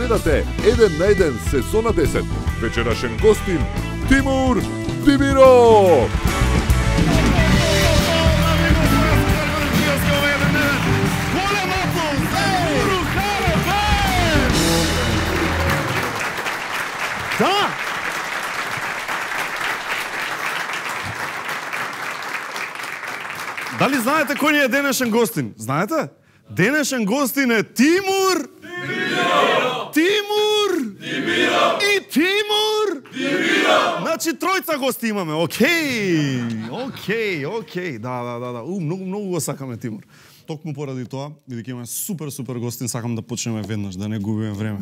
Гледате 1 на 1 сезона 10. Вечерашен гостин Тимур Димиров. Да! Дали знаете кој ни е денешен гостин? Знаете? Денешен гостин е Тимур Димиров. Тимур Димиров. И Тимур Димиров. Значи тројца гости имаме. Океј. Да. Многу го сакаме Тимур. Токму поради тоа, бидејќи имаме супер гостин, сакам да почнеме веднаш, да не губиме време.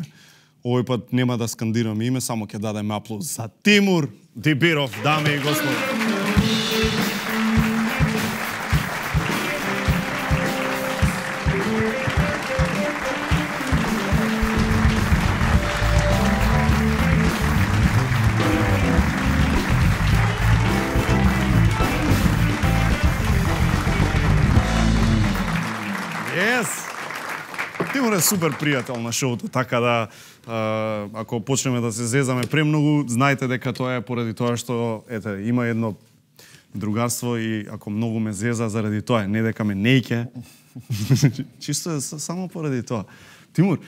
Овој пат нема да скандираме име, само ќе дадеме аплауз за Тимур Димиров, дами и господи. Тимур е супер пријател на шоуто, така да ако почнеме да се зезаме премногу, знаете дека тоа е поради тоа што има едно другарство и ако многу ме зеза заради тоа, не дека ме нејке. Чисто е само поради тоа. Тимур,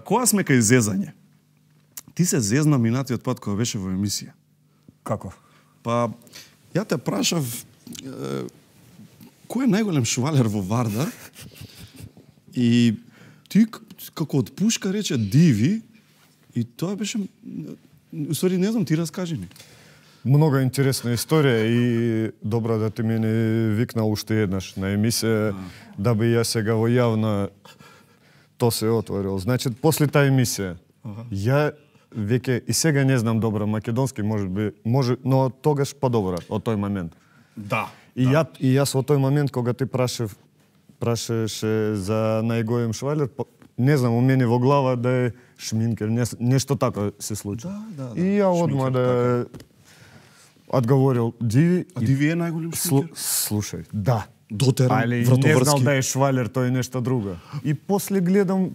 кога сме кај зезање? Ти се зезна минатиот пат кога беше во емисија. Како? Па, ја те прашав кој е најголем швалер во Вардар и ти како од пушка рече Диви и тоа беше... Усвари, не знам, ти раскажи ми. Много интересна историја и добро да ти мене викнал уште еднаш на емисија, да би ја сега во јавна то се отворил. Значи, после таа емисија, ја веќе и сега не знам добро македонски, може, но тогаш подобро од тој момент. Да. И јас во тој момент кога ти прашаше за најголем швалер, не знам, у мене во глава да е шминкер, нешто така се случи. Да. И ја одма да одговорил Диви. А Диви е најголем шминкер? Слушај, да. Дотеран, али вратоврски. Не знал да е швалер, тој е нешто друго. И после гледам,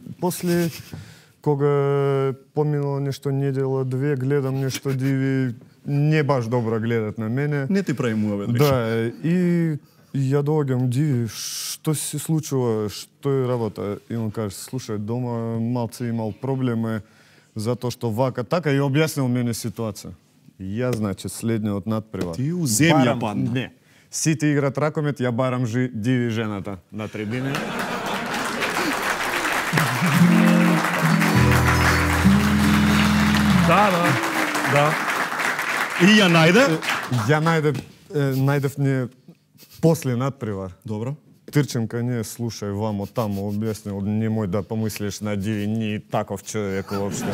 кога поминало нешто недела, две, гледам нешто Диви, не баш добро гледат на мене. Не ти прави муавет. Да, и ја доаѓам, Диви, што се случува, што е работа? И он каже, слушај, дома малце имал проблеми, затоа што вака, така и објаснил мене ситуација. Ја, значи, следниот надпревар. Ти у земја падна. Не. Сите играт ракомет, ја барам Диви жената на трибине. Да. И ја најде? Ја најдев не после надпревар. Добро. Трчам кај неја, слушај, вамо тамо објаснил, немој да помислиш на Диви, ни таков човек воопшто.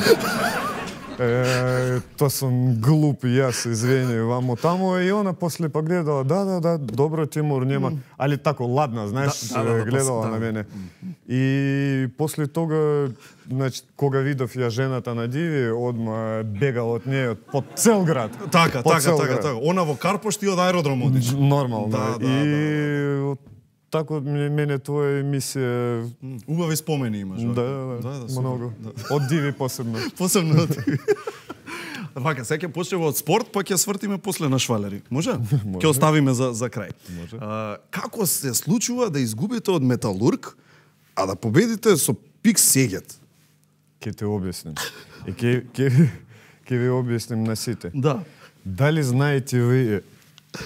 То сум глуп, јас, извини, вамо тамо, и она после погледала, да, добро, Тимур, нема, али тако ладна, знаеш, гледала на мене. И после тога, значи, кога видов ја жената на Диви, одма бегал од неја по цел град. Така. Она во Карпош, ти од аеродром одиш. Нормално. Да. И тако мене твоја емисија... Убави спомени имаш. Да, многу. Од Диви посебно. Посебно од Диви. Вака, сега ќе почнеме од спорт, па ќе свртиме после на швалери. Може? Ќе оставиме за крај. Може. Како се случува да изгубите од Металург, а да победите со Пик Сегет? Ке те објасним. И ке ви објасним на сите. Да. Дали знаете ви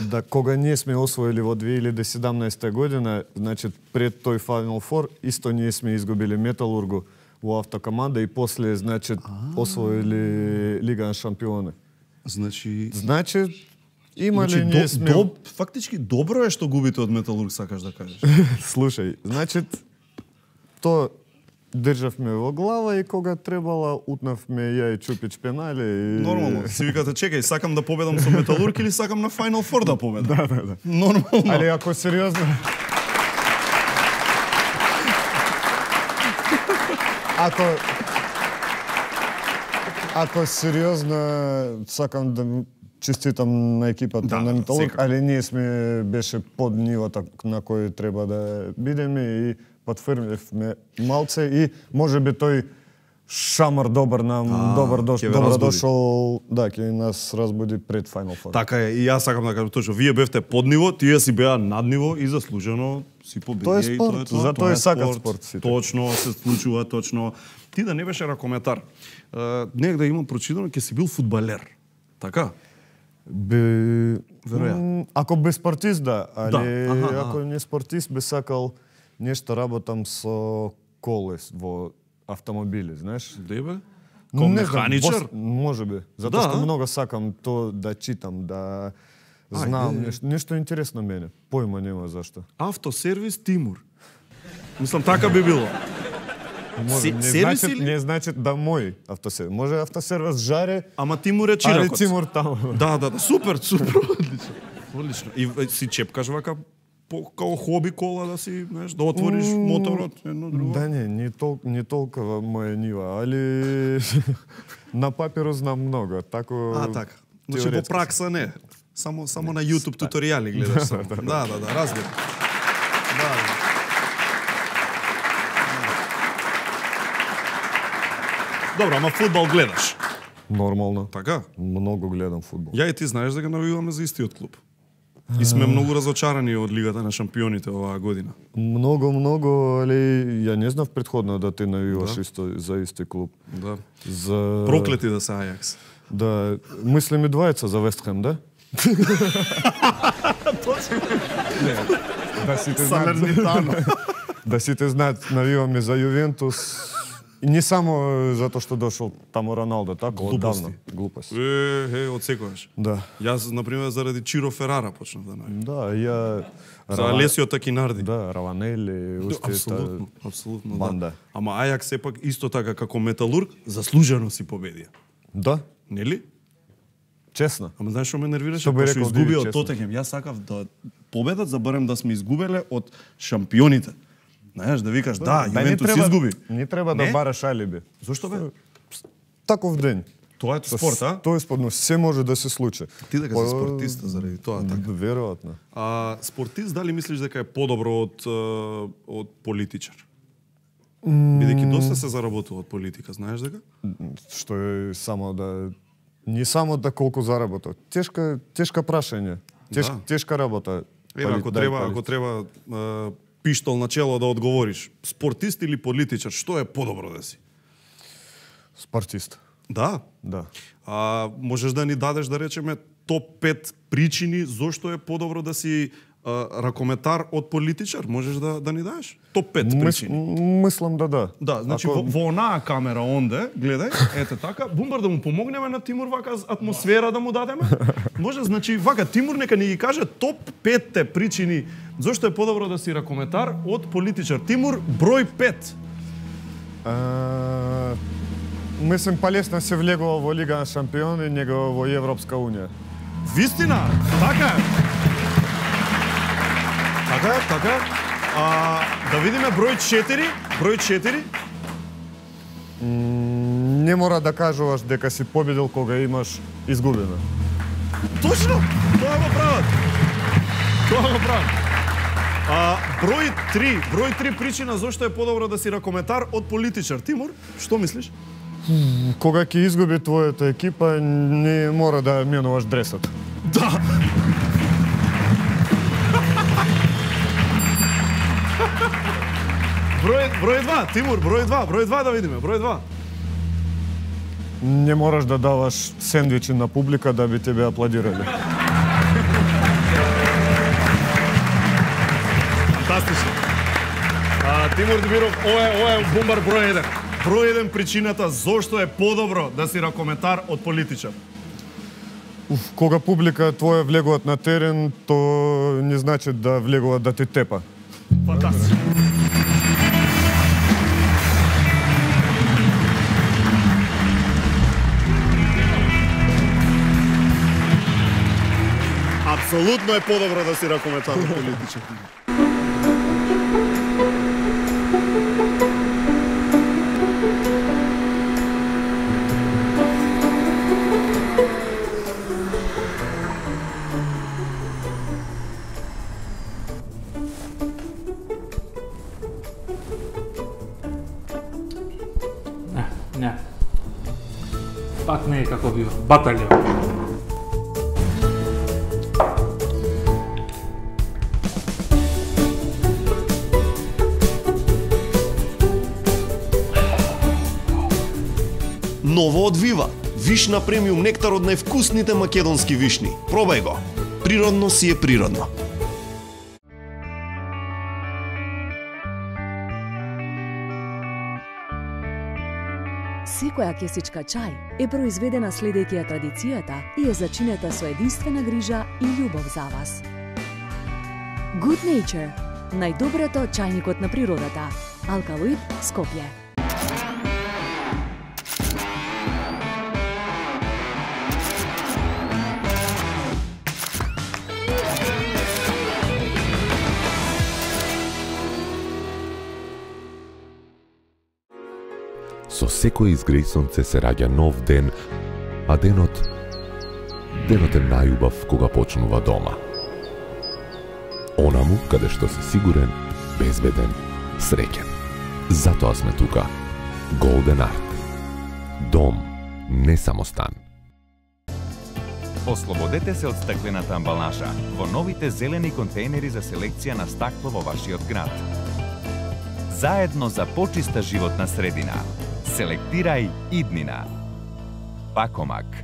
да кога ние сме освоили во 2017 година, значи пред тој Final Four, исто ние сме изгубили Металургу во автокоманда и после, значи, освоили Лига на шампиони. Значи има ли ние сме... фактички добро е што губите од Металург, сакаш да кажеш. Слушај, значи то државме во глава и кога требала утнавме ја и Чупич пенали и... Нормално. Си викате, чекај, сакам да победам со Металург или сакам на Final Four да победам? Да. Нормално. Али ако сериозно... Ако сериозно сакам да честитам на екипата на Металург, али ние сме беше под нивото на кој треба да бидеме и потврдивме малце и можеби тој шамар добар нам, добро дошол, да, ќе нас разбуди пред Final Four. Така е, и јас сакам да кажам точно, вие бевте под ниво, тие си беа над ниво и заслужено си победија. Тоа е спорт, затоа и сакат спорт сите. Точно, се случува, точно. Ти да не беше ракометар, негде имам прочитано, ќе си бил фудбалер. Така? Веројатно. Ако би спортист, да, али ако не спортист, би сакал нешто работам со колес во автомобили, знаеш? Дебе? Ком механичар? Може би. Затоа што многу сакам то да читам, да знам нешто интересно мене. Појма нема зашто. Автосервис Тимур. Мислам, така би било. Може, не значи да мој автосервис. Може автосервис Жаре, ама Тимур е чиракот. Али Тимур таму. Да, супер, одлично. Одлично. И си чепкаш вака као хоби кола да си, знаеш, да отвориш моторот, едно друго. Да не толкова моја нива, али на папиру знам многу, тако. Така. Значи во пракса не. Само на YouTube туторијали гледаш само. Да, разбирам. Да. Добро, ама фудбал гледаш? Нормално. Така? Многу гледам фудбал. Ја и ти знаеш да го навиваме за истиот клуб. И сме многу разочарани од Лигата на шампионите оваа година. Многу, али ја не знав претходно да ти навиваш исто за исти клуб. Да. За... Проклети да се Ајакс. Да, мислим и двајца за Вестхем, да? Точно. Да сите знаат. Да сите знаат, навиваме за Јувентус. И не само затоа што дошол таму Роналдо, така, оддавна. Глупости. Од секогаш. Да. Јас, например, заради Чиро Ферара почнав да навивам. Да, ја... За Алесио Такинарди. Да, Раванели, уште Апсолутно, банда. Да. Ама Ајакс сепак исто така како Металург заслужено си победија. Да. Нели? Честно. Ама знаеш што ме нервираше? Што изгуби од Тотенхем. Јас сакав да победат, забарем да сме изгубеле од шампионите. Знаеш, да викаш, да, Јувентус изгуби. Не треба да бараш алиби. Зошто бе? Таков ден. Тоа е спорт, а? Тоа е спорт, но се може да се случи. Ти дека си спортист заради тоа, така? Веројатно. Спортист, дали мислиш дека е подобро од политичар? Бидејќи доста се заработува од политика, знаеш дека? Што е само да... Не само да колку заработува. Тешка прашање. Тешка работа. Ева, ако треба пиштол на чело да одговориш, спортист или политичар, што е подобро да си? Спортист. Да? Да. Можеш да ни дадеш, да речеме, топ 5 причини зошто е подобро да си ракометар од политичар? Можеш да ни дадеш? Топ 5 причини. Мислам да. Да, значи во онаа камера онде, гледај, ете така, Бумбар да му помогнеме на Тимур вака атмосфера да му дадеме. Може, значи вака Тимур нека ни ги каже топ 5 причини зошто е подобро да си ракометар од политичар. Тимур, број 5. Мислам полесно се влегува во Лига на шампиони, него во Европска унија. Вистина, така е. Така. Да видиме број 4. Број 4. Не мора да кажуваш дека си победил кога имаш изгубено. Точно! Тоа го прават. Број 3 причина зошто е подобро да си ракометар од политичар. Тимур, што мислиш? Кога ќе изгуби твојата екипа, не мора да менуваш дресот. Да. Број 2, Тимур, број 2 да видиме, број 2. Не мораш да даваш сендвичи на публика да би тебе аплодирали. Фантастично. Тимур Димиров, ова е Бумбар број 1. Број 1 причината зошто е подобро да си ракометар од политичар. Кога публика твоја влегуваат на терен, то не значи да влегуваат да те тепа. Фантастично. Апсолутно е подобро да си ракометар политичар. Не. Пак не е како бива. Баталија. Ново од Вива. Вишна премиум нектар од највкусните македонски вишни. Пробај го. Природно си е природно. Секоја кесичка чај е произведена следејќи ја традицијата и е зачинета со единствена грижа и љубов за вас. Good Nature. Најдоброто чајникот на природата. Алкалоид, Скопје. Со секој изгреј сонце се раѓа нов ден, а денот е најубав кога почнува дома. Онаму каде што си сигурен, безбеден, среќен. Затоа сме тука. Golden Art. Дом, не само стан. Ослободете се од стаклената амбалажа во новите зелени контейнери за селекција на стакло во вашиот град. Заедно за почиста животна средина. Селектирај иднина. Пакомак.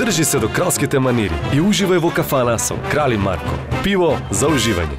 Држи се до кралските манири и уживај во кафана со Крали Марко. Пиво за уживање.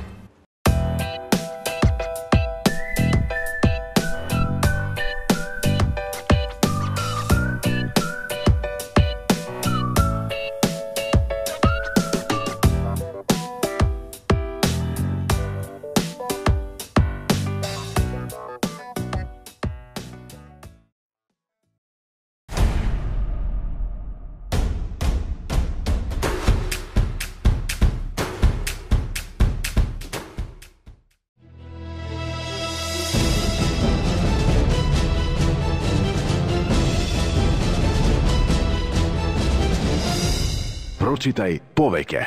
Прочитај повеќе.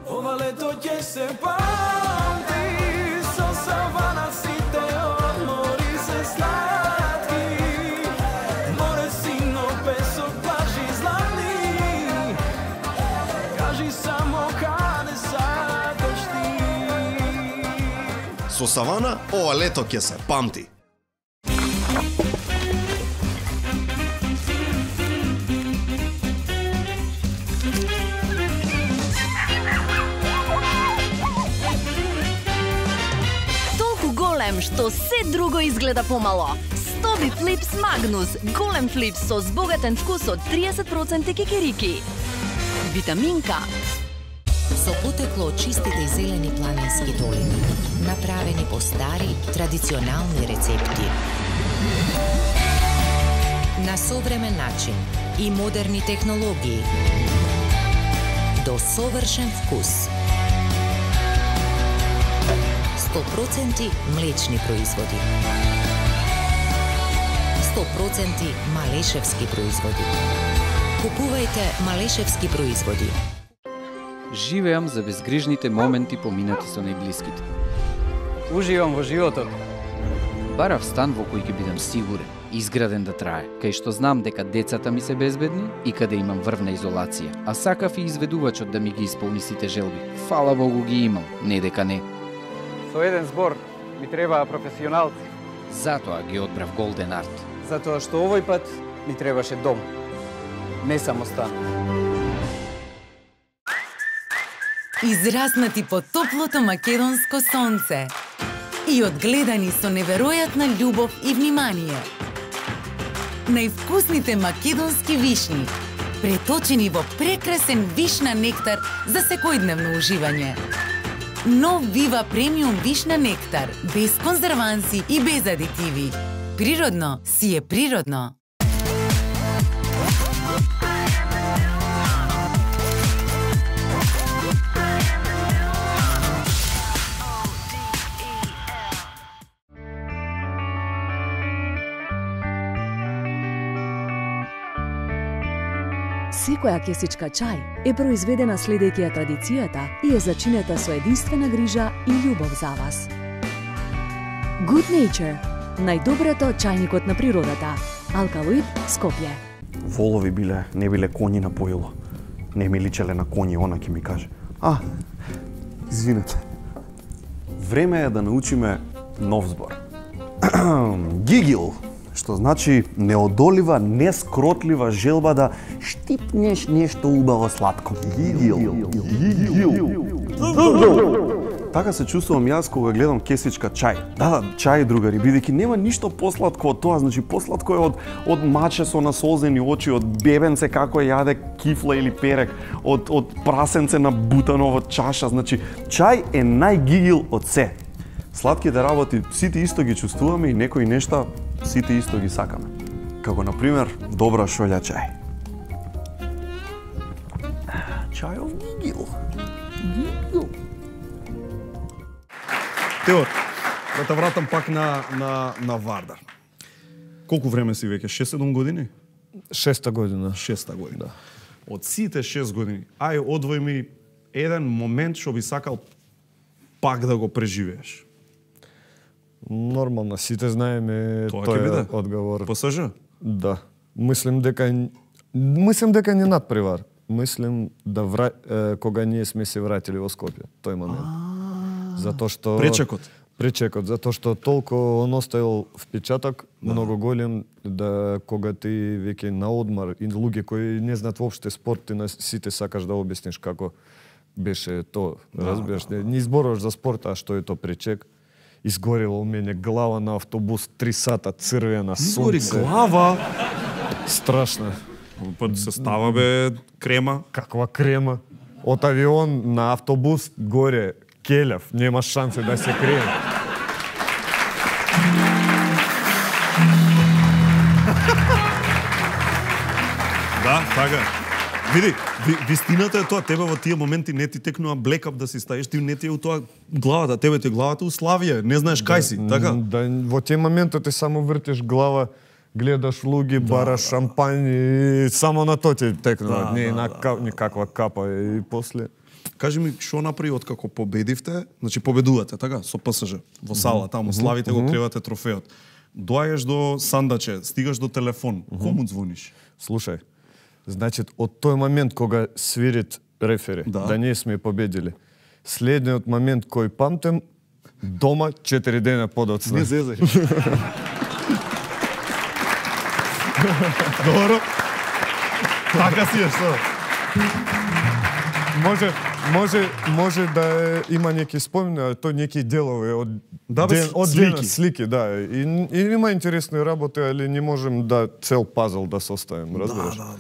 Ова лето ќе се памти, со савана сите одмори се сладки. Море, сино, песок, плажи златни. Кажи само каде сакаш ти. Со савана, ова лето ќе се памти. Што се друго изгледа помало. Стоби Флипс Магнус, голем флипс со збогатен вкус од 30% кикирики. Витаминка. Со потекло од чистите и зелени планински долини, направени по стари, традиционални рецепти. На современ начин и модерни технологии. До совршен вкус. 100% млечни производи. 100% малешевски производи. Купувајте малешевски производи. Живеам за безгрижните моменти поминати со најблиските. Уживам во животот. Барав стан во кој ќе бидам сигурен, изграден да трае, кај што знам дека децата ми се безбедни и каде имам врвна изолација. А сакав и изведувачот да ми ги исполни сите желби. Фала Богу ги имам, не дека не. Со еден збор ми требаа професионалци. Затоа ги одбрав Golden Art. Затоа што овој пат ми требаше дом, не само стан. Израснати под топлото македонско сонце и одгледани со неверојатна љубов и внимание. Највкусните македонски вишни, преточени во прекрасен вишна нектар за секојдневно уживање. Нов Вива премиум вишна нектар, без конзерванси и без адитиви. Природно си е природно. Секоја кесичка чај е произведена следејќи ја традицијата и е зачинета со единствена грижа и љубов за вас. Good Nature, најдоброто чајникот на природата. Алкалоид, Скопје. Волови не биле коњи на поило. Не ми личеле на коњи, она ќе ми каже. Извинете. Време е да научиме нов збор. Гигил, што значи неодолива, нескротлива желба да штипнеш нешто убаво сладко. Гигил. Така се чувствувам јас кога гледам кесичка чај. Да, чај, другари, бидејќи нема ништо посладко од тоа, значи посладко е од маче со насолзени очи, од бебенце како јаде кифла или перек, од прасенце на бутаново чаша, значи чај е најгигил од се. Сладките работи сите исто ги чувствуваме и некои нешта сите исто ги сакаме. Како на пример добра шолја чај. Чајов гигил. Теор, да те вратам пак на Вардар. Колку време си веќе? 6-7 години? 6-та година. 6-та година. Да. Од сите 6 години, ај одвој ми еден момент што би сакал пак да го преживееш. Нормално, сите знаеме тој одговор. ПСЖ? Да. Мислим дека не надпревар. Мислим кога ние сме се вратили во Скопје, тој момент. Затоа што пречекот, затоа што толку он оставил впечаток многу голем да кога ти веќе на одмар и луѓе кои не знаат воопште спорт, ти на сите сакаш да објасниш како беше то, разбираш, не зборуваш за спорт, а што е то пречек. Изгорела у мене глава на автобус 3 сата, црвена, сонце. Изгори глава? Страшно. Па се става бе крема. Каква крема? Од авион на автобус горе келев, нема шанси да се крие. Да, така. Види, вистината е тоа, тебе во тие моменти не ти текнува блекап да си ставиш, ти не ти е у тоа главата, тебе ти е главата у Славија, не знаеш кај си, така? Да, во тие моменти ти само вртиш глава, гледаш луѓе, бараш шампањ и само на тоа ти текнува, не никаква капа и после. Кажи ми, што направи откако победивте, значи победувате, така, со ПСЖ, во сала, таму, славите го, кревате трофеот. Доаѓаш до сандаче, стигаш до телефон, кому звониш? Слушај, значи, од тој момент кога свирит рефери, да ние сме победили, следниот момент кој памтем, дома 4 дена подоцна. Не зезај. Добро. Така си е, што? Може да има неки спомени, а тој неки делови од слики, да. И има интересни работи, али не можем да цел пазл да составим, разбираш? Да.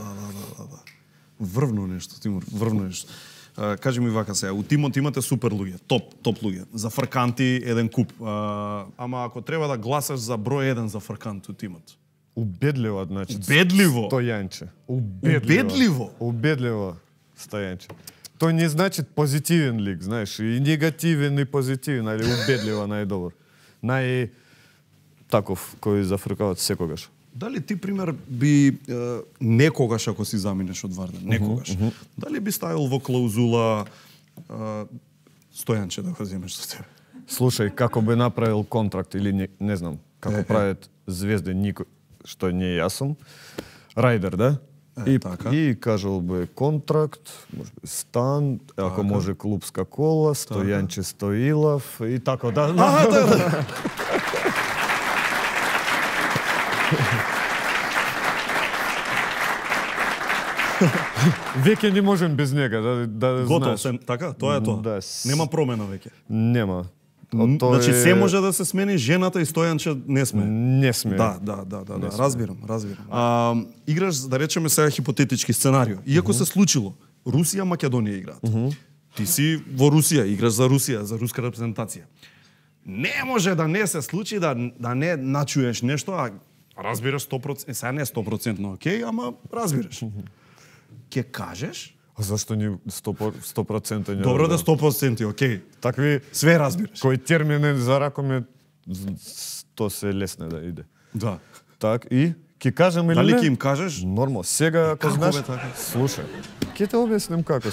Врвно нешто, Тимур, врвно нешто. Кажи ми вака сега, у тимот имате супер луѓе, топ луѓе. За фрканти еден куп. Ама ако треба да гласаш за број 1 за фркант у тимот. Убедливо, значи. Убедливо? Стојанче. Убедливо, Стојанче. Тој не значи позитивен лик, знаеш, и негативен и позитивен, али убедливо најдобар. Таков кој зафркават секогаш. Дали ти, пример, би некогаш, ако си заминеш од Вардар, некогаш, дали би ставил во клаузула Стојанче да го земеш со тебе? Слушај, како би направил контракт или не знам, како прават звезде никој, што не јас сум, рајдер, да? И кажал би контракт, може би стан, ако може клубска кола, Стојанче Стоилов и така да. Веќе не можем без него, да Готов знаеш. така? Тоа е тоа. Да. Нема промена веќе. Нема. Значи се може да се смени, жената и Стојанче не сме. Не сме. Да, разбирам. Играш, да речеме сега хипотетички сценарио. Иако се случило, Русија, Македонија играат. Ти си во Русија, играш за Русија, за руска репрезентација. Не може да не се случи да не начуеш нешто, а разбираш 100%, сега не 100% окей, ама разбираш. Ке кажеш? А зашто ни 100% не? Добро да 100% окей. Такви све разбираш. Кој термини за ракоме, то се лесне да иде. Да. Так и ќе кажам или дали не? ќе им кажеш? Нормално. Сега ако Како знаеш, бе така? слушај. Ќе те објасним како.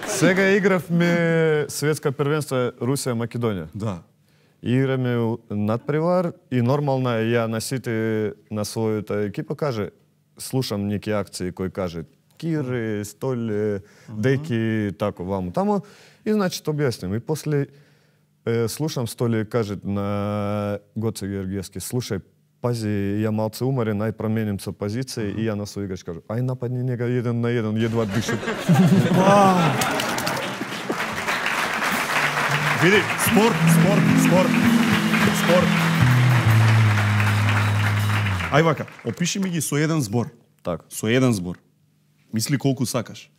Сега игравме светска првенство Русија Македонија. Да. Играме надпревар и нормално е ја на сите на својата екипа каже слушам неки акции кои каже Кире, Столе, Деки, тако ваму тамо и значи то објасним. И после слушам Столе каже на Гоце Георгиевски, слушај, пази, ја малце уморен, ај променим со позиција и ја на свој играч кажу, ај нападни нега 1 на 1, едва дише. Види, спорт. Ај вака, опиши ми ги со еден збор. Так. Со еден збор. Мисли колку сакаш.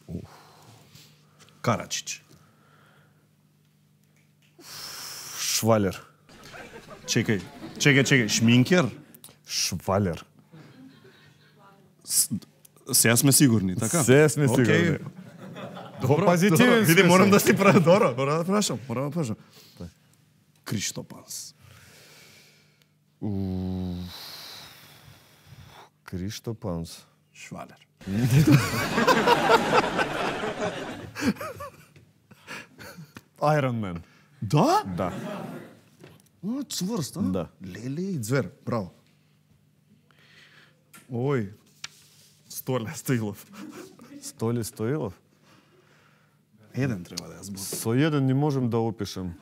Карачич. Швалер. Чекај. Шминкер? Швалер. Сега сме сигурни, така? Сега сме сигурни. Добро, позитивен види, смисол. морам да си правя добро. Морам да прашам. Криштопанс. Криштопанс. Швалер. Iron Man. Да? Да. Цврст, а? Да. Леле и звер, браво. Ој, Столе Стоилов. Столе Стоилов? Еден треба да ја зборам. Со еден не можем да опишем.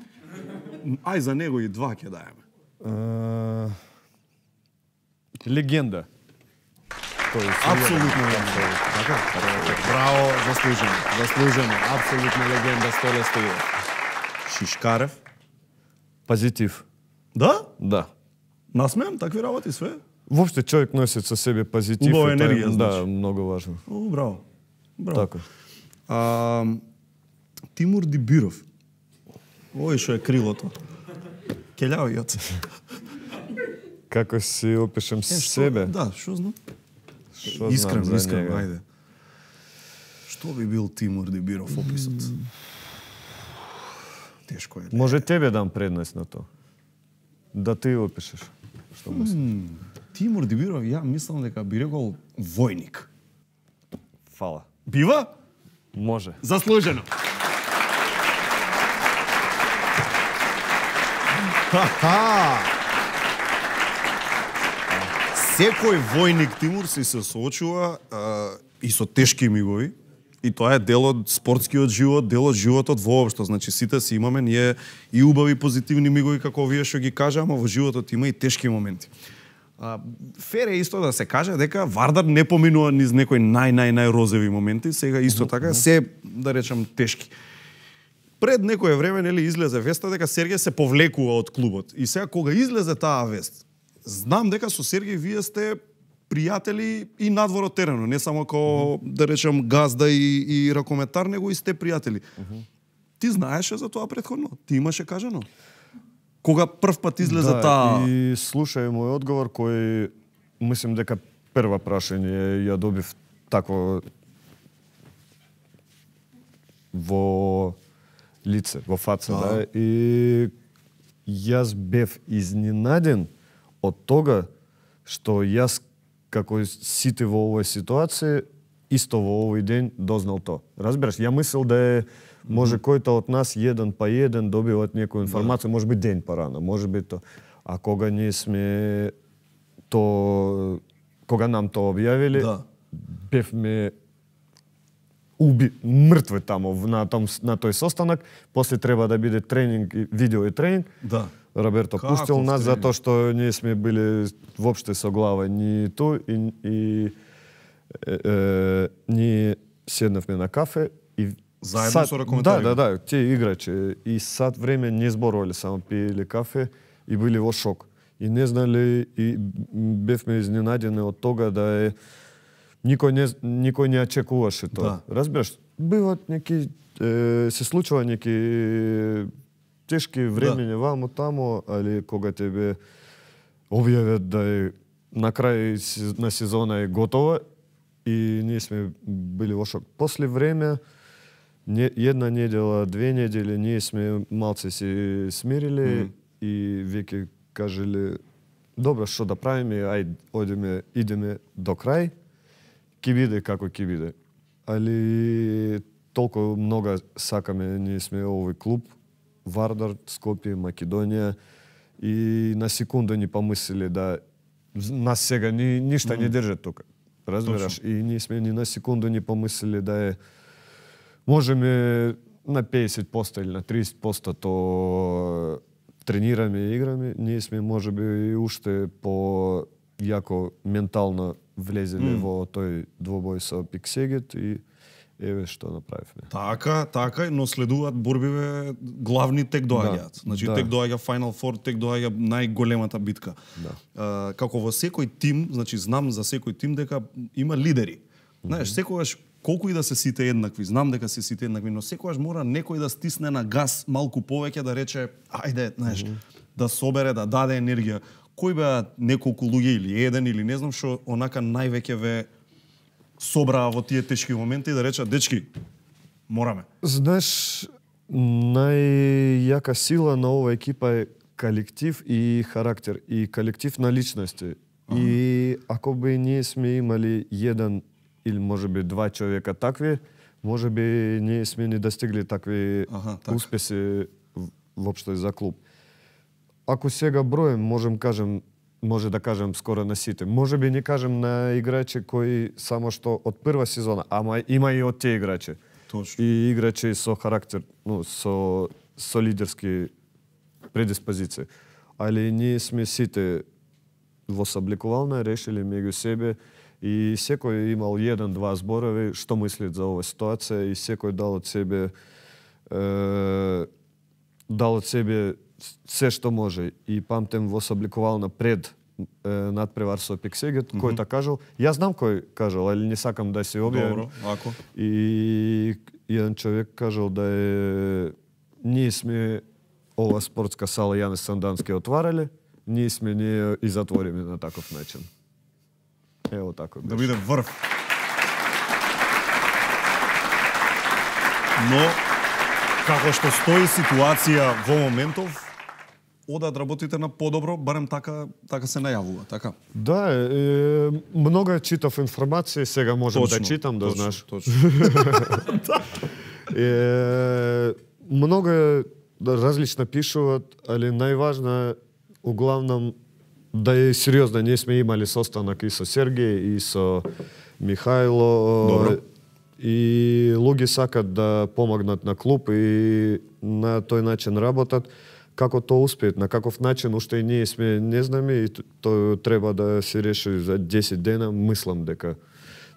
Ај за него и два ќе даеме. Легенда. Апсолутно легенда. Така? Браво, заслужено. Апсолутно легенда Столе Стоилов. Шишкарев. Позитив. Да? Да. Насмеам такви работи све? Воопште човек носи со себе позитив. Убава и тоа е, енергија, значи. Да, многу важно. Браво. Така. Тимур Дибиров. Ој што е крилото. Келјао јоце. Како си опишем себе? Да, што знам? Искрен, ајде. Што би бил Тимур Дибиров описот? Тешко е. Може тебе дам предност на тоа. Да ти опишеш. Што мислиш? Тимур Дибиров, ја мислам дека би рекол војник. Фала. Бива? Може. Заслужено. Секој војник Тимур се соочува и со тешки мигови. И тоа е дел од спортскиот живот, дел од животот воопшто. Значи сите си имаме ние и убави позитивни мигови како вие што ги кажа, ама во животот има и тешки моменти. Фер е исто да се каже дека Вардар не поминува низ некои најрозеви моменти, сега исто така се, да речам, тешки. Пред некое време нели излезе веста дека Сергеј се повлекува од клубот. И сега кога излезе таа вест, знам дека со Сергеј вие сте пријатели и надвор од теренот, не само како, да речем, газда и ракометар, него и сте пријатели. Ти знаеше за тоа претходно? Ти имаше кажано? Кога прв пат излезе таа... И слушај мој одговор кој мислам дека прва прашање ја добив тако во лице, во фаца, да. И јас бев изненаден од тога што јас како сите во овој ситуација исто во овој ден дознал то. Разбираш, ја мислел да е може којто од нас еден па еден добиваат некоја информација, може би ден порано, може би то. А кога ние сме то кога нам то објавиле, бевме мртви таму на тој состанок, после треба да биде тренинг, видео и тренинг. Да. Роберто пуштил нас затоа што ние сме били воопште со глава ни ту и ние седнавме на кафе и заедно со ракометари. Да, тие играчи и сат време не зборувале, само пиеле кафе и били во шок. И не знали и бевме изненадени од тога да е никој не очекуваше тоа. Разбираш, биваат неки се случува неки тешки времења вамо тамо, али кога тебе објавят да е на крај на сезона е готова и ние сме били во шок. После време една недела, 2 недели ние сме малце се смириле и веќе кажеле добро, што да правиме, ајде идеме до крај. Ки биде како ки биде. Али толку много сакаме, ние сме овој клуб, Вардар, Скопје, Македонија и на секунда ни помислиле да нас сега ништа не држат тука. Разбираш? И ние сме ни на секунда ни помислиле да е можеме на 50% или на 30% то тренираме и играме, ние сме можеби и уште по јако ментално влезеле во тој двобој со Пиксегет и еве што направивме. Така, но следуваат борбиве главни тек доаѓаат. Значи тек доаѓа Final Four, тек доаѓа најголемата битка. Како во секој тим, значи знам за секој тим дека има лидери. Знаеш, секогаш колку и да се сите еднакви, знам дека се сите еднакви, но секогаш мора некој да стисне на газ малку повеќе да рече ајде, знаеш, да собере, да даде енергија. Кој беа неколку луѓе или еден или не знам што онака највеќе ве собраа во тие тешки моменти да речат дечки мораме. Знаеш, најјака сила на оваа екипа е колектив и характер и колектив на личности. И ако би ние сме имали еден или можеби 2 човека такви, можеби ние сме не достигли такви успеси воопшто за клуб. Ако сега броем, може да кажем скоро на сите. Може би не кажем на играчи кои само што од прва сезона, ама има и од тие играчи. Точно. И играчи со характер, со лидерски предиспозиции. Али ние сме сите во собликувална решили меѓу себе и секој имал 1-2 зборови што мислит за оваа ситуација и секој дал од себе се што може. И памтем во собликувална пред надпревар со Пиксегет, кој та кажал, јас знам кој кажал, али не сакам да се објавам. Добро, ако. И еден човек кажал да е ние сме ова спортска сала Јанес Сандански отварале, ние сме не и затвориме на таков начин. Ево тако беше. Да биде врв. Но како што стои ситуација во моментов, одат работите на подобро, барем така се најавува, така? Да, многу читав информација, сега можам да читам, да знаеш. Точно. Многу различно пишуваат, али најважно углавном да е сериозно. Ние сме имали состанок и со Сергеј и со Михајло. Добро. И луѓе сакат да помогнат на клуб и на тој начин работат. Како тоа успеат, на каков начин, уште и ние сме не знаме и тоа треба да се реши за 10 дена, мислам дека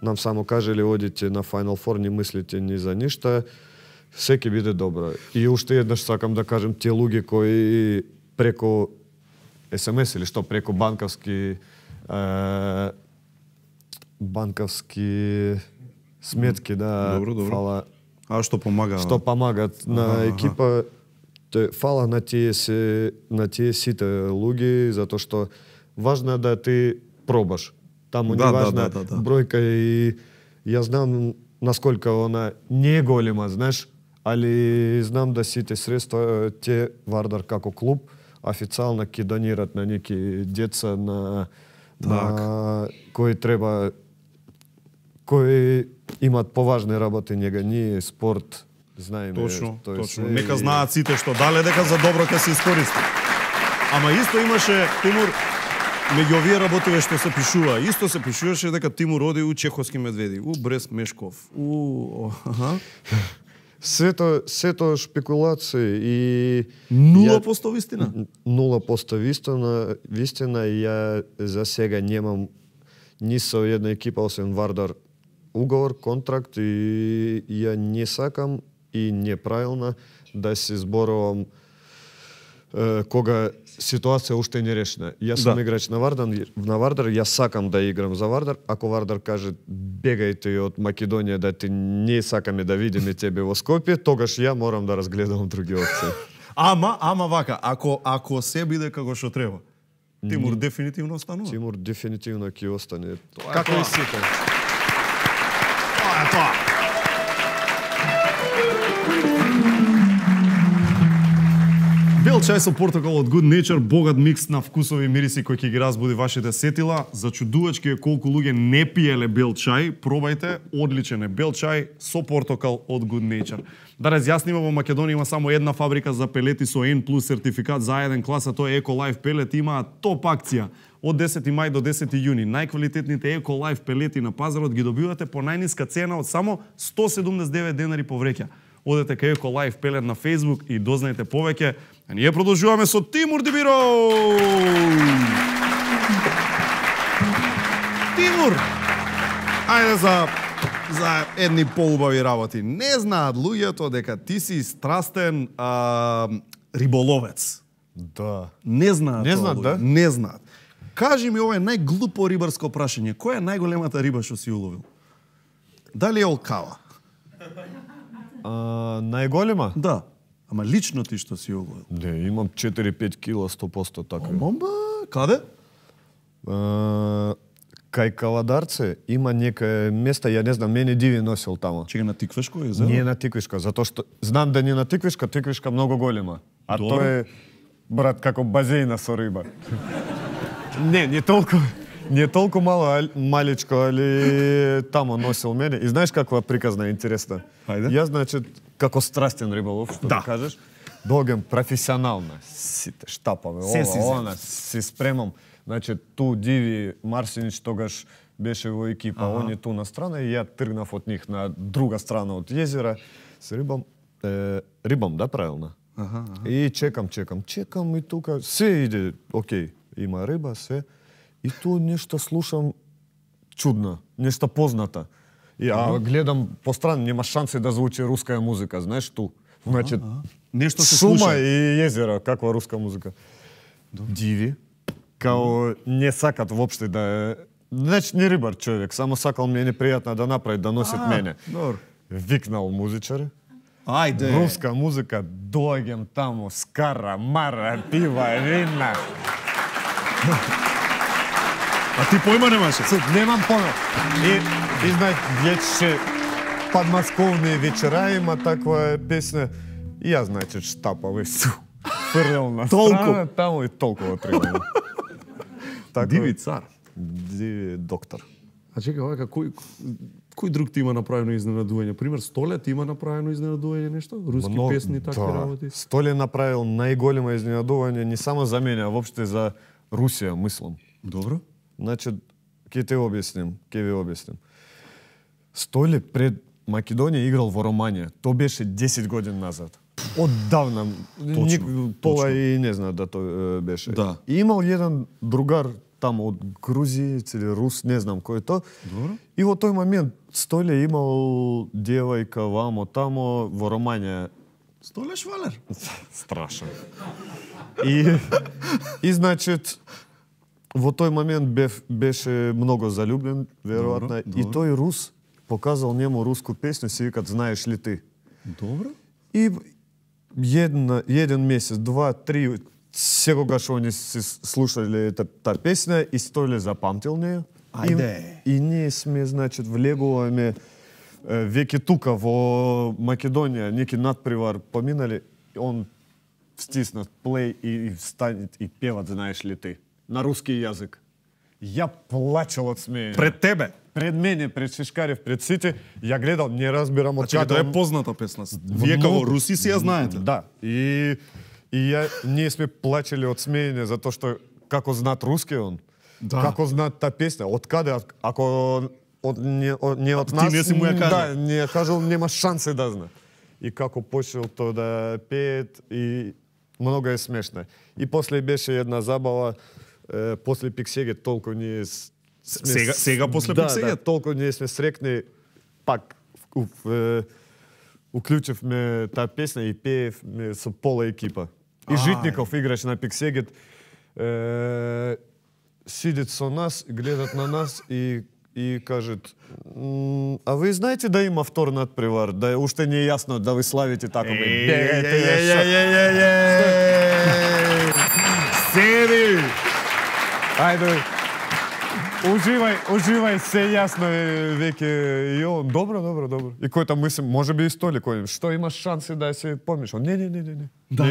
нам само кажеле одите на Final Four, не мислите ни за ништа, се ќе биде добро. И уште еднаш сакам да кажем тие луѓе кои преку СМС или што преку банковски сметки да фала. А што помага? Што помагат на екипа. Фала на тие сите луѓе, затоа што важно е да ти пробаш. Таму не важна бројка и јас знам насколку она не е голема, знаеш, али знам да сите средства те Вардар како клуб официјално ќе донират на неки деца на кои треба кои имаат поважни работи нега ние спорт знаеме. Точно. Нека знаат сите што дале дека за добро ќе се искористи. Ама исто имаше Тимур меѓу овие работиве што се пишува, исто се пишуваше дека Тимур оди у Чеховски медведи, у Брест Мешков, Сето шпекулации и 0% вистина. 0% вистина и ја за сега немам ни со една екипа освен Вардар уговор, контракт и ја не сакам и неправилно да се зборувам кога ситуација уште не решена. Јас сум играч на Вардар, јас сакам да играм за Вардар. Ако Вардар каже бегајте од Македонија да ти не сакаме да видиме тебе во Скопје, тогаш ја морам да разгледам други опции. Ама вака, ако се биде како што треба, Тимур дефинитивно останува. Тимур дефинитивно ќе остане. Како и сите. Тоа е тоа. Бел чај со портокал од Good Nature, богат микс на вкусови и мириси кои ќе ги разбуди вашите сетила. Зачудувачки е колку луѓе не пиеле бел чај. Пробајте, одличен е бел чај со портокал од Good Nature. Да разјасниме, во Македонија има само една фабрика за пелети со N+ сертификат за еден класа, тоа е Eco-Life пелет. Има топ акција од 10 мај до 10 јуни. Најквалитетните Eco-Life пелети на пазарот ги добивате по најниска цена од само 179 денари по вреќа. Одете кај Eco-Life пелет на Facebook и дознаете повеќе. А ние продолжуваме со Тимур Дибиров! Тимур! Ајде за едни поубави работи. Не знаат луѓето дека ти си страстен риболовец. Да. Не знаат. Не знаат, да? Не знаат. Кажи ми, ова е најглупо рибарско прашање. Која е најголемата риба што си уловил? Дали е олкава? Најголема? Да. Ама лично ти што си уловил? Не, имам 4-5 кила 100% така. Бомба, каде? Кај Кавадарце има некое место, ја не знам, мене диви носил тамо. Чега на Тиквешко езеро? Не на Тиквешко, затоа што знам да не на Тиквешка многу голема. А тоа е, брат, како базеина со риба. Не толку мало, маличко, али тамо носил мене. И знаеш каква приказна интересна? Хајде. Јас, значи, како страстен риболов, што да кажеш, доаѓам професионално, сите штапаме, ова, се спремам. Значи, ту Диви Марсинич тогаш беше во екипа, он е ту на страна и ја тргнав од нив на друга страна од језера, се рибам, да, правилно? И чекам и тука се иде, окей, има риба, се. И ту нешто слушам чудно, нешто позната. И гледам по страна, нема шанси да звучи руска музика, знаеш ту. Значи, нешто се шума слуша. и езеро, каква руска музика. Диви, као не сакат воопште да е... Значи, не рибар човек, само сакал ми е непријатно да направи, да носит мене. Викнал музичар. Ајде. Руска музика, доаѓам таму, скара, мара, пива, вина. А ти појма немаше? Немам појма. И знај, вече подмосковни вечера има таква песна. И ја значи штапав и фрлел на страна, таму и толкова требало. Диви цар. Диви доктор. А чекай, овака, кој друг ти има направено изненадување? Пример, Столе ти има направено изненадување нешто? Руски песни, такви работи? Столе направил најголемо изненадување не само за мене, а воопште за Русија, мислам. Добро. Значи, ќе ви објасним. Столе пред Македонија играл во Романија. То беше 10 години назад. Оддавна. Пола и не знаат да тоа беше. Да. И имал еден другар таму од Грузија или Рус, не знам кој е тоа. Добро. И во тој момент Столе имал девојка вамо тамо во Романија. Столе швалер. Страшно. И значит, во тој момент беше многу залюблен, веројатно, и тој Рус показал нему руску песню, си викат "Знаеш ли ти?" Добро. И еден месец, 2-3, секогаш они се слушале та песна и Столе запамтил неја. Ајде. И ние сме, значит, влегуваме веќе тука во Македонија, неки надпревар поминали, он стиснат плей и станет и певат "Знаеш ли ти?" на руски јазик. Ја плачел од смеење. Пред тебе? пред мене, пред Шишкарев, пред сите, ја гледам, не разбирам од каде. Тоа е позната песна. Вие како руси си ја знаете. Да. И ние сме плачели од смеење затоа што како знаат руски он. Да. Како знаат та песна, од каде, ако не од нас, ти не си му ја кажал. Да, не ја кажал, нема шансе да знае. И како почел тоа да пеет и многу е смешно. И после беше една забава, после Пиксегет толку ние сега после Пиксегет? Да, толку ние сме срекни, пак уклучивме таа песна и пеевме со пола екипа. И Житников играше на Пиксегет, сидит со нас, гледат на нас и кажат, а ви знаете да има втор надпревар, да уште не е јасно да ви славите тако ме бегајте. Седи! Ајде, уживај, се јасно е веќе и он. Добро. И кој там мислим, може би и Столи кој, што имаш шанси да се помешал? Не. Да.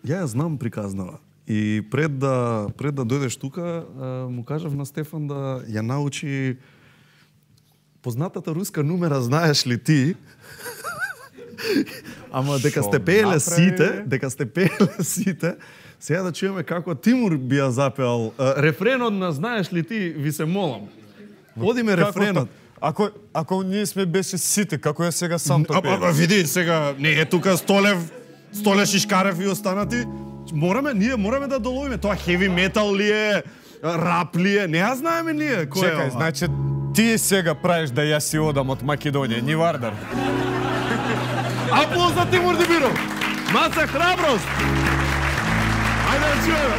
Ја знам приказнава. И пред да дојдеш тука, му кажав на Стефан да ја научи познатата руска нумера, знаеш ли ти? Ама дека сте пееле сите, сега да чуеме како Тимур би ја запеал рефренот на знаеш ли ти, ви се молам. Одиме рефренот. Ако ние сме беше сите, како ја сега сам тоа пеел? Види, сега не е тука Столе Шишкарев и останати. Ние мораме да доловиме. Тоа хеви метал ли е, рап ли е, не ја знаеме ние. Чекај, значи ти сега правиш да ја си одам од Македонија, ни Вардар. Аплауз за Тимур Дибиров! Маса храброст! Ајде да чуеме!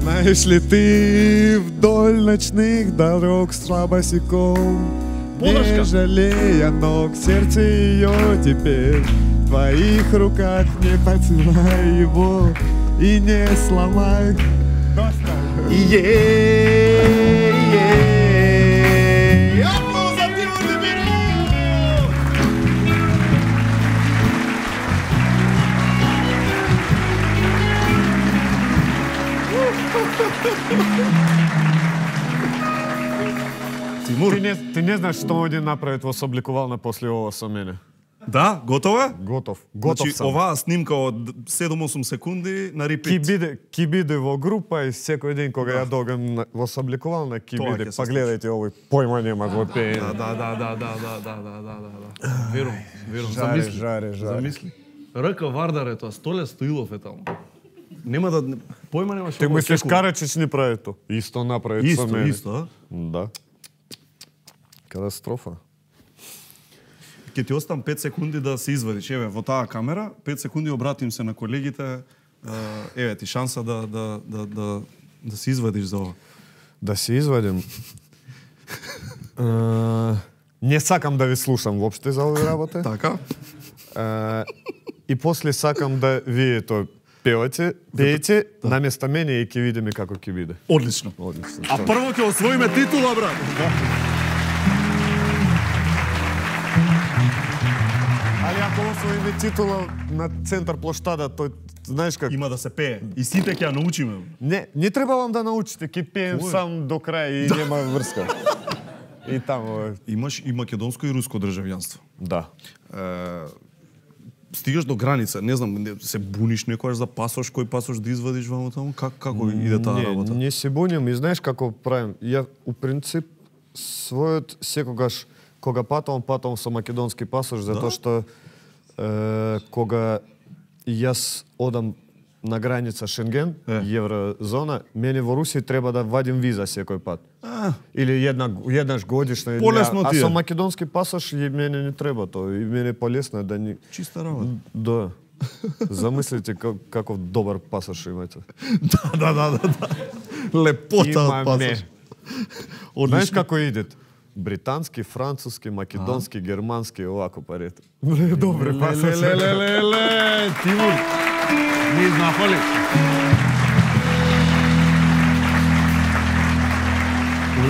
Знаеш ли ти вдоль ночных дорог с босиком, не жалея ног, сердце ее теперь в твоих руках, не поцелуй его и не сломай. Аплауз за Тимур Дибиров! Тимур, ти не знаеш што оди направи во собликувална после ова со мене. Да, готов е? Готов Значи, сам. оваа снимка од 7-8 секунди на репит. Ки биде во група и секој ден кога ја догам во собликувална ки Тоа биде. ќе се Па гледајте овој појма нема во пеење. Да. Верувам. Жаре. Замисли. РК Вардар е тоа, Столе Стоилов е таму. Нема да појма немаш. Ти мислиш Карачич не прави тоа? Исто направи со мене. Исто. Да. Катастрофа. Ќе ти оставам 5 секунди да се извадиш. Еве, во таа камера, 5 секунди обратим се на колегите. Еве ти шанса да се извадиш за ова. Да се извадим. Не сакам да ви слушам воопште за овие работи. Така. И после сакам да вие тоа пеете, наместо мене и ќе видиме како ќе биде. Одлично. А прво ќе освоиме титула, брат. Али ако освоиме титула на центар плоштада, тој знаеш како има да се пее. И сите ќе ја научиме. Не требавам да научите, ќе пеем сам до крај и нема врска. И таму имаш и македонско и руско државјанство. Да. Стигаш до граница, не знам, се буниш некојаш за пасош, кој пасош да извадиш ваму таму? Како иде таа работа? Не се буним и знаеш како правим. Ја у принцип својот секогаш кога патувам со македонски пасош, затоа што кога јас одам на граница Шенген, еврозона, мене во Русија треба да вадим виза секој пат. Или еднаш годишно. Полесно ти е. А со македонски пасош мене не треба тоа. И мене полесно да ни... Чиста работа. Да. Замислите каков добар пасош имате. Да. Лепота од пасош. Знаеш како идет? Британски, француски, македонски, германски, овако парите. Добре пасош. Тимур, ни знафали.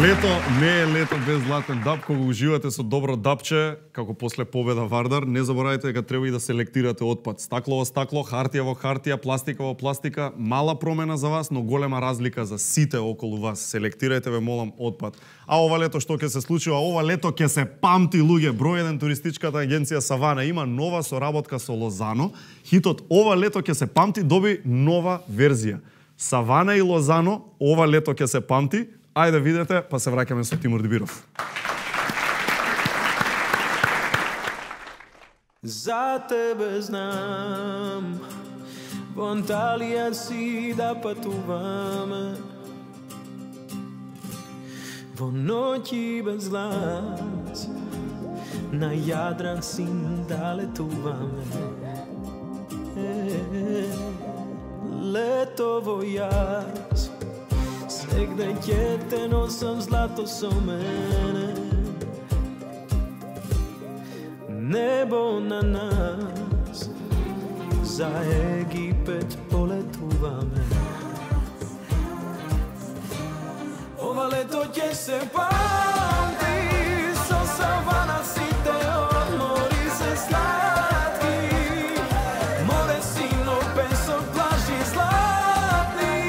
Лето не е лето без златен дап, кога уживате со добро дапче, како после победа Вардар, не заборавајте дека треба и да селектирате отпад. Стакло во стакло, хартија во хартија, пластика во пластика, мала промена за вас, но голема разлика за сите околу вас. Селектирајте, ве молам, отпад. А ова лето што ќе се случи? Ова лето ќе се памти, луѓе. Број 1 туристичката агенција Савана има нова соработка со Лозано. Хитот ова лето ќе се памти доби нова верзија. Савана и Лозано ова лето ќе се памти. Ајде видете, па се враќаме со Тимур Дибиров. За тебе знам, во Анталија си да патуваме, во ноќи без глас, на Јадран син да летуваме. Лето во јас, сегде ќе те носам злато со мене. Небо на нас, за Египет полетуваме. Ова лето ќе се памти, со Савана сите одмори се сладки. Море сино, песок, плажи златни.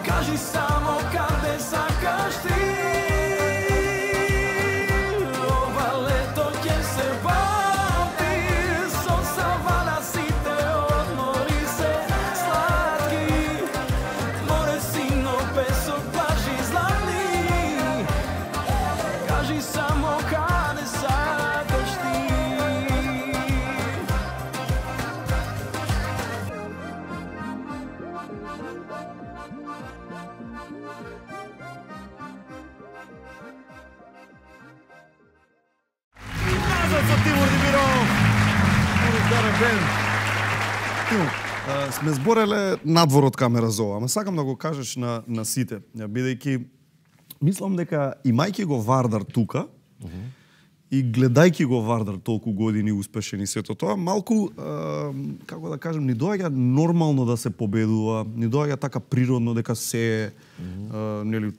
Кажи само каде сакаш ти. Ова лето ќе се памти, со Савана сите одмори се сладки. Море сино, песок, плажи златни. Кажи само каде сакаш ти. Назад со Тимур Дибиров. Тимур, сме збореле надвор од камера за ова, ама сакам да го кажеш на сите, бидејќи мислам дека имајќи го Вардар тука и гледајќи го Вардар толку години успешен и сето тоа, малку, како да кажем, ни доаѓа нормално да се победува, ни доаѓа така природно дека се нели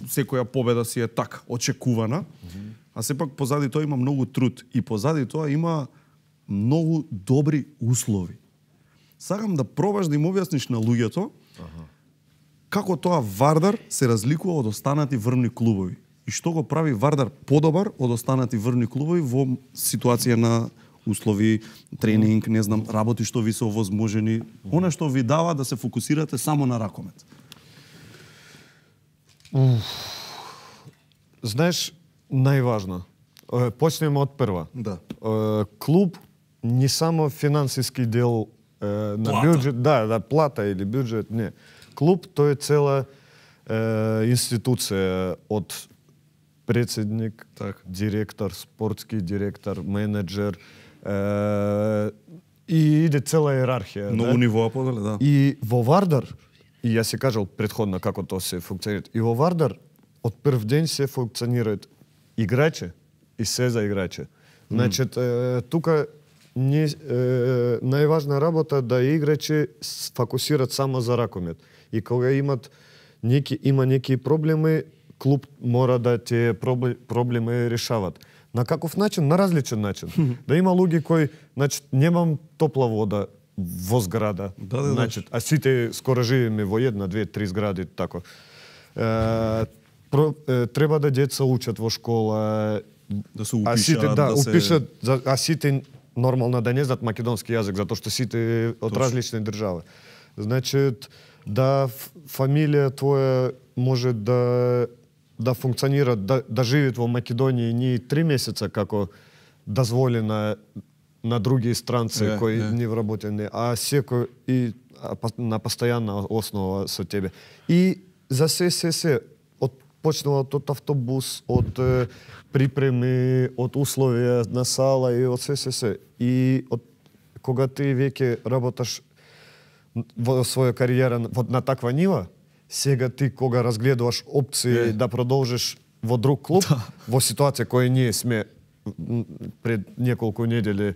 секоја победа си е така очекувана. А сепак позади тоа има многу труд и позади тоа има многу добри услови. Сакам да пробаш да им објасниш на луѓето како тоа Вардар се разликува од останати врвни клубови и што го прави Вардар подобар од останати врвни клубови во ситуација на услови, тренинг, не знам, работи што ви се овозможени, она што ви дава да се фокусирате само на ракомет. Знаеш, најважно. Почнеме од прва. Да. Клуб не само финансиски дел на Плата. бюджет, да, плата или бюджет, не. Клуб тој е цела институција од председник, директор, спортски директор, менеджер и иде цела иерархија. Многу нивоа поделе, да. И во Вардар, и јас си кажал претходно како тоа се функционира, и во Вардар од прв ден се функционираат играчи и се за играчи. Значит, тука најважна работа да играчи фокусираат само за ракомет. И кога има неки проблеми, клуб мора да тие проблеми решават. На каков начин? На различен начин. Да има луѓе кои, значит, немам топла вода во зграда. Значит, а сите скоро живееме во една, две, три згради, тако. Треба да деца учат во школа, да се упишат, упишат, а сите нормално да не знаат македонски јазик, затоа што сите од различни држави. Значит, да фамилија твоја може да функционира, да живеат во Македонија не 3 месеца како дозволено на други странци кои не вработени, а секој и на постојана основа со тебе. И за се почнува од автобус, од припреми, од условија на сала и од се. И кога ти веќе работаш во своја кариера на таква нива, сега ти кога разгледуваш опции да продолжиш во друг клуб, во ситуација која ние сме пред неколку недели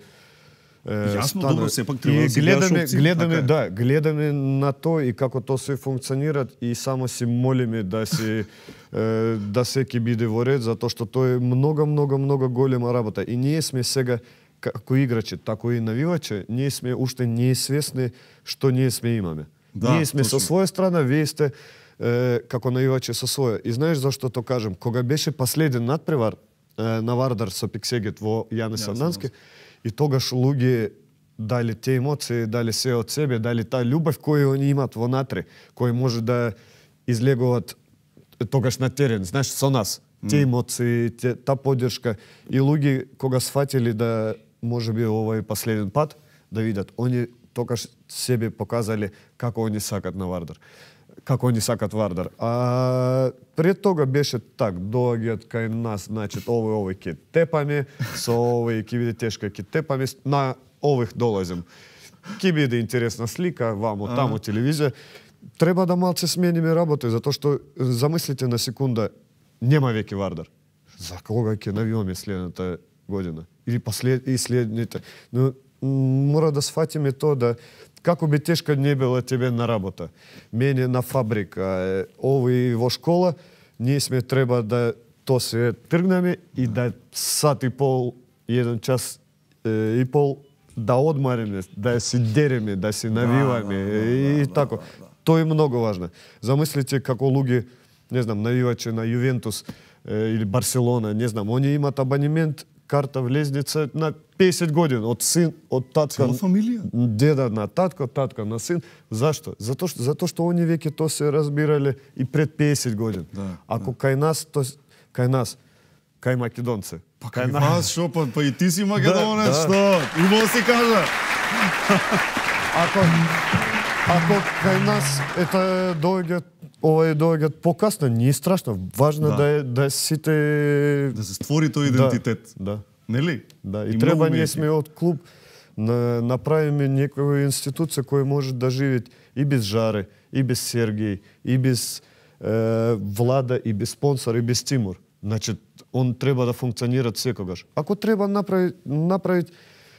Јасно, добро, сепак треба да си гледаме на тоа и како тоа се функционира и само си молиме да секи биде во ред, затоа што тоа е много голема работа. И ние сме сега како играчи, тако и навивачи, ние сме уште неизвесни што ние сме имаме. Ние сме со своја страна, вие сте како навивачи со своја. И знаеш зашто то кажам? Кога беше последен надпревар на Вардар со Пиксегет во Јане Сандански, и тогаш луѓе дали те емоции, дали се од себе, дали таа љубов која они имат внатре, кој може да излегуваат тогаш на терен, знаеш, со нас. Те емоции, та поддршка и луѓе кога сфатили да можеби овој последен пат да видат, они тогаш себе показале како они сакат на Вардар. Како они сакат Вардар. А пред тога беше так, доаѓаат кај нас, значи овој ќе тепаме, со овој ќе биде тешко, ќе тепаме, на ових долазим. Ќе биде интересна слика, вамо, тамо, телевизија. Треба да малце смениме работа, затоа што замислите на секунда, нема веќе Вардар. За кога ќе навиваме следната година? Или и следните. Но мора да сфатиме тоа да како би тешка не била тебе на работа, мене на фабрика, овој во школа, ние сме треба да то се тргнеме и да сат и пол, 1 час и пол, да одмариме, да си дереме, да си навиваме и тако. Тоа е многу важно. Замислите како луѓе, не знам, навивачи на Јувентус или Барселона, не знам, они имат абонемент, карта влезница на 50 години, од син, од татка. Цела фамилија? Деда на татко, татка на син. Зашто? Затоа што они веќе тоа се разбирале и пред 50 години. Ако кај нас, кај македонци. Па кај вас, шо, па и ти си македонец, што? Убаво си кажа. Ако кај нас доаѓаат покасно, не е страшно. Важно да сите... Да се створи тој идентитет. Да. Нели? Да, и треба ние сме од клуб направиме некоја институција која може да живее и без Жаре, и без Сергеј, и без Влада, и без спонсор, и без Тимур. Значи, он треба да функционира секогаш. Ако треба направить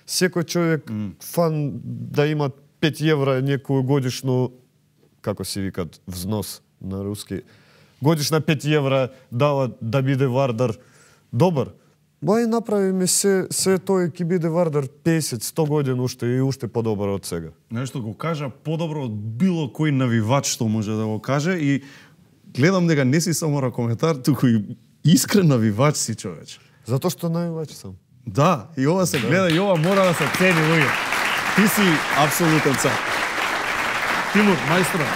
секој човек, фан, да има 5 евра некој годишно, како се викат, взнос на руски, годишна 5 евра дава да биде Вардар добар, бај направиме се тој ќе биде Вардар 50-100 години уште и уште подобар од сега. Нешто го кажа подобро од било кој навивач што може да го каже и гледам дека не си само ракометар, туку и искрен навивач си, човече. Затоа што навивач сам. Да, и ова се гледа и ова мора да се цени, луѓе. Ти си апсолутен цар. Тимур, мајстро,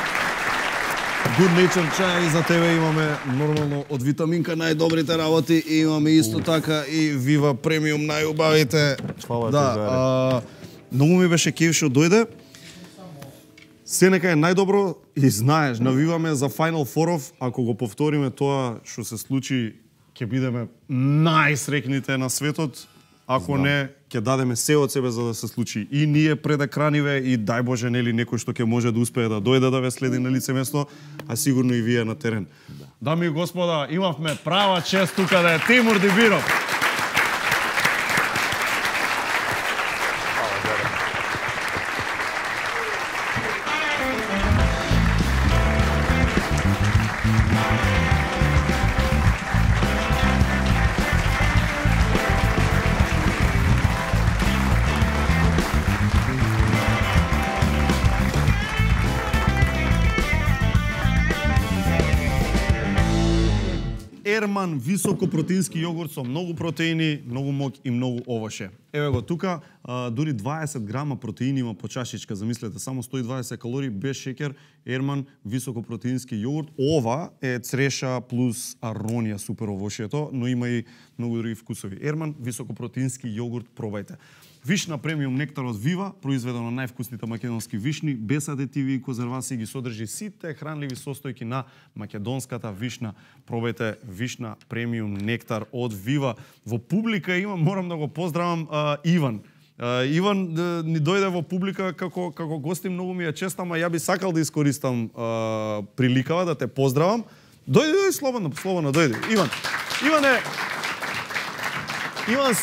Good Nature чај за тебе имаме нормално од Витаминка најдобрите работи и имаме исто така и Viva Premium најубавите. Фала ти, Заре. Многу ми беше кеф што дојде. Се нека е најдобро и знаеш, навиваме за Final Four-ов, ако го повториме тоа што се случи, ќе бидеме најсрекните на светот. Ако не, ќе дадеме се од себе за да се случи и ние пред екраниве и дај Боже нели некој што ќе може да успее да дојде да ве следи на лице место, а сигурно и вие на терен. Дами и господа, имавме права чест тука да е Тимур Дибиров. Ерман високопротеински јогурт со многу протеини, многу моќ и многу овоше. Еве го тука, дури 20 грама протеини има по чашичка, замислете, само 120 калории без шеќер. Ерман високопротеински јогурт. Ова е цреша плюс аронија супер овошето, но има и многу други вкусови. Ерман високопротеински јогурт, пробајте. Вишна премиум нектар од Вива, произведен од највкусните македонски вишни, без адитиви и конзервации, ги содржи сите хранливи состојки на македонската вишна. Пробајте вишна премиум нектар од Вива. Во публика има, морам да го поздравам Иван. Иван ни дојде во публика како гости, многу ми е чест, ама ја би сакал да искористам приликава да те поздравам. Дојди, слободно, дојди. Иван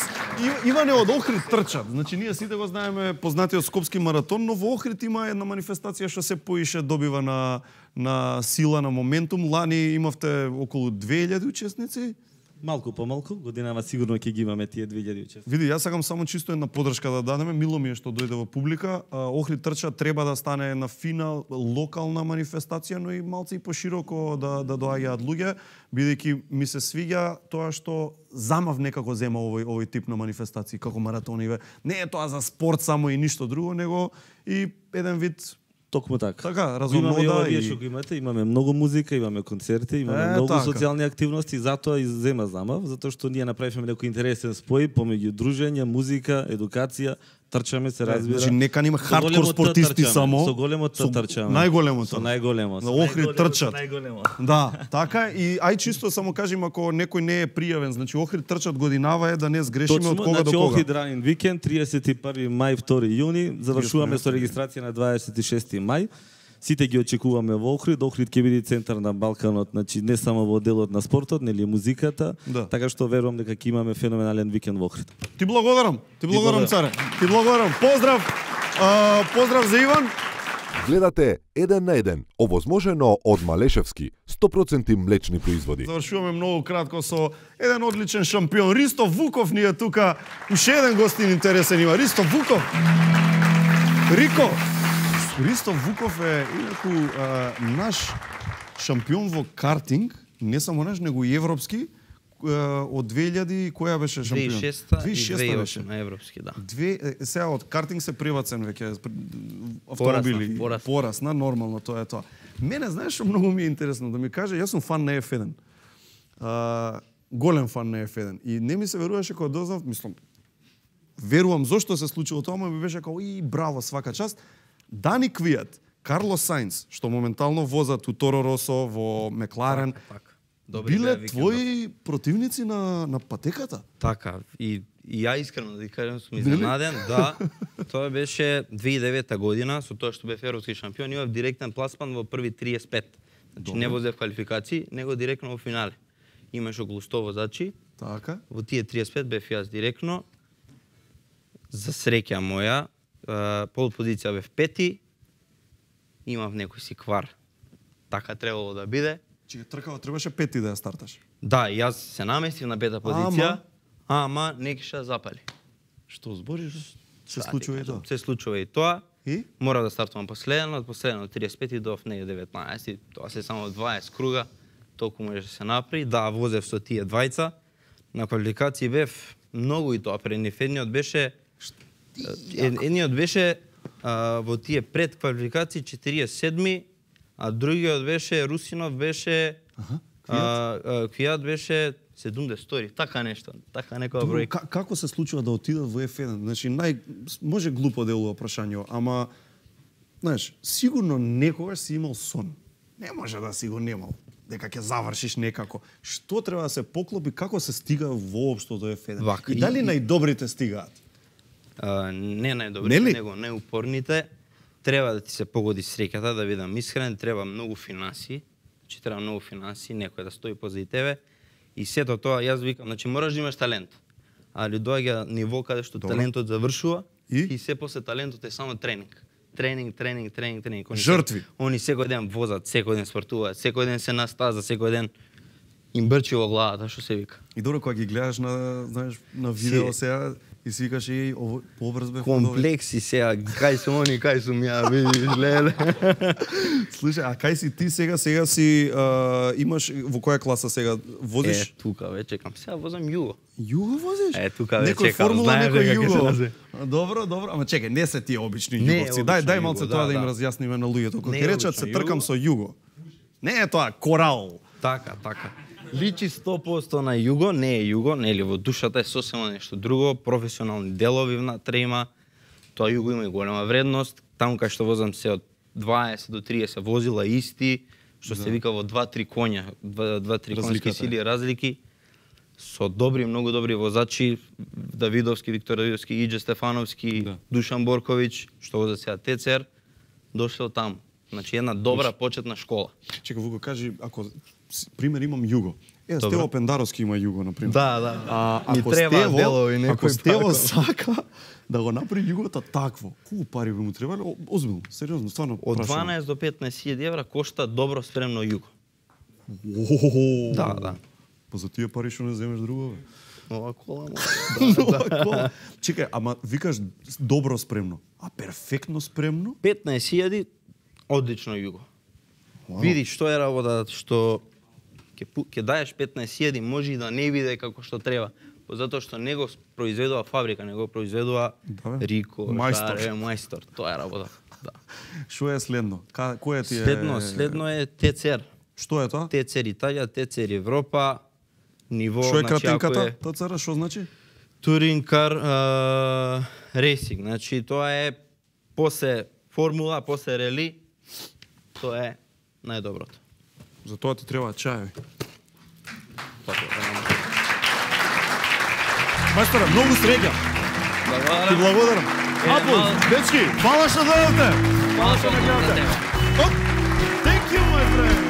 Иване од Охрид трчат. Значи ние сите го знаеме познатиот скопски маратон, но во Охрид има една манифестација што се поише добива на сила, на моментум. Лани имавте околу 2000 учесници. Малку помалку, годинава сигурно ќе ги имаме тие 2000 учесници. Види, јас сакам само чисто една подршка да дадеме. Мило ми е што дојде во публика. Охрид трча треба да стане на финал локална манифестација, но и малце и пошироко да доаѓаат луѓе, бидејќи ми се свиѓа тоа што замав некако зема овој тип на манифестации, како маратониве. Не е тоа за спорт само и ништо друго, него и еден вид. Токму така. Така, разумода и ова вие што го имате, имаме многу музика, имаме концерти, имаме многу така. социјални активности, затоа и зема замав, затоа што ние направивме некој интересен спој помеѓу дружење, музика, едукација, трчаме се разбира. Значи нека нема хардкор спортисти само. Со големото трчаме. Најголемото. Со најголемо. На Охрид трчат. Да, така и ај чисто само кажем ако некој не е пријавен, значи Охрид трчат годинава е да не сгрешиме од кога до кога. Охрид ранин викенд 31 мај 2 јуни, завршуваме со регистрација на 26 мај. Сите ги очекуваме во Охрид. Охрид ќе биде центар на Балканот, значи не само во делот на спортот, нели музиката, така што верувам дека ќе имаме феноменален викенд во Охрид. Ти благодарам царе. Ти благодарам. Поздрав. Поздрав за Иван. Гледате 1 на 1, овозможено од Малешевски, 100% млечни производи. Завршуваме многу кратко со еден одличен шампион. Ристо Вуков ни е тука. Уште еден гостин интересен има. Ристо Вуков. Ристо Вуков е инаку наш шампион во картинг, не само наш, него и европски, од 2000, која беше шампион? 2006 и 2008 на европски, да. Сега од картинг се привацен веќе автомобили. Порасна, нормално, тоа е тоа. Мене, знаеш што многу ми е интересно да ми каже, јас сум фан на F1. Голем фан на F1. И не ми се веруваше кога дознав, мислам, верувам зошто се случило тоа, ми беше како и браво, свака част. Дани Квијат, Карлос Сајнс, што моментално возат у Торо Росо, во Мекларен, биле твои противници на патеката? Така, и ја искрено да кажам сум изненаден, да. Тоа беше 2009 година, со тоа што бев европски шампион, имав директен пласман во први 35. Значи не возев квалификации, него директно во финале. Имаш околу 100 возачи. Така. Во тие 35 бев јас директно. За среќа моја, пол позиција бев пети, имав некој си квар. Така требало да биде. Че тркава требаше пети да ја старташ. Да, јас се наместив на пета позиција, ама не киша запали. Што збориш? Се случува и тоа. Се случува и тоа. И? Мора да стартувам последно, од последно 35 до не 19, тоа се само 20 круга, толку може да се направи. Да, возев со тие двајца. На квалификации бев многу и тоа едниот беше едниот беше во тие пред квалификации 47, а другиот беше Русинов беше Квијат беше 72, така нешто, така некоја бројка. Како се случува да отидат во F1? Значи може глупо делува прашање, ама знаеш, сигурно некогаш си имал сон. Не може да си го немал дека ќе завршиш некако. Што треба да се поклопи, како се стига воопшто до F1? И дали најдобрите стигаат? Не најдобрите, него најупорните. Треба да ти се погоди среќата, да бидам искрен, треба многу финанси, че треба многу финанси, некој да стои позади тебе. И сето тоа, јас викам, значи мораш да имаш талент. Али доаѓа ниво каде што талентот завршува и се после талентот е само тренинг. Тренинг. Жртви. Они секој ден возат, секој ден спортуваат, секој ден се на стаза, секој ден им брчи во главата, што се вика. И добро кога ги гледаш на, знаеш, на видео сега и си викаш и побрз бе. Комплекси сега, кај сум они, кај сум ја, видиш, леле. Слушај, а кај си ти сега си имаш во која класа сега возиш? Тука ве чекам. Сега возам југо. Југо возиш? Тука ве некој чекам. Формула, некој југо. Добро. Ама чекај, не се тие обични југовци. Дај малце тоа да им разјасниме на луѓето. Кога ќе речат се тркам со југо. Не е тоа корал. Така. Личи 100% на југо, не е југо, нели во душата е сосема нешто друго, професионални делови внатре има. Тоа југо има и голема вредност. Таму кај што возам се од 20 до 30 возила исти, што се вика во 2-3 коња, 2-3 конски сили разлики. Со многу добри возачи, Давидовски, Виктор Давидовски, Иđe Стефановски, Душан Борковиќ, што возат сега ТЦР, дошло таму. Значи една добра почетна школа. Чекай, Вуко, кажи, ако пример имам Југо. Стево Пендаровски има Југо, например. Да. Ако Стево сака да го направи Југото такво, колку пари би му требале? Озбилно, сериозно, стварно од прашувам. 12 до 15.000 евра кошта добро спремно Југо. Да. Па за тие пари што не земеш друго, бе? Нова кола, кола. Чекај, ама викаш добро спремно, а перфектно спремно? 15.000 одлично Југо. Види што е работа, што ќе даеш 15.000, може и да не биде како што треба. Затоа што не го произведува фабрика, не го произведува Рико, мајстор. Тоа е работа. Да. Што е следно? Кој ти е? Следно е ТЦР. Што е тоа? ТЦР Италија, ТЦР Европа, ниво... Што е кратинката? ТЦР, што значи? Touring Car Racing. Значи, тоа е после формула, после рели, тоа е најдоброто. За тоа ти треба чајови. Мајсторе, многу среќа. Ти благодарам. Апол, дечки, фала што дојдовте. Фала што ме гледате. Thank you, my friend.